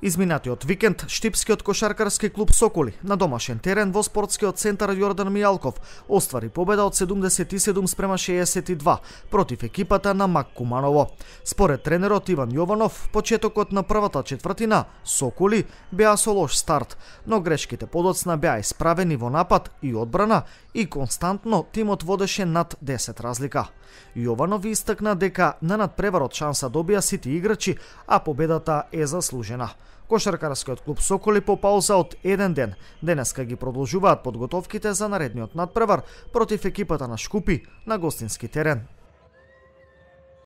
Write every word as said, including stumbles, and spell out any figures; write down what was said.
Изминатиот викенд штипскиот кошаркарски клуб Соколи на домашен терен во спортскиот центар Јордан Мијалков оствари победа од седумдесет и седум спрема шеесет и два против екипата на Мак Куманово. Според тренерот Иван Јованов, почетокот на првата четвртина Соколи беа со лош старт, но грешките подоцна беа исправени во напад и одбрана и константно тимот водеше над десет разлика. Јованов истакна дека на надпреварот шанса добија сите играчи, а победата е заслужена. Кошаркарскиот клуб Соколи по пауза од еден ден денеска ги продолжуваат подготовките за наредниот надпревар против екипата на Шкупи на гостински терен.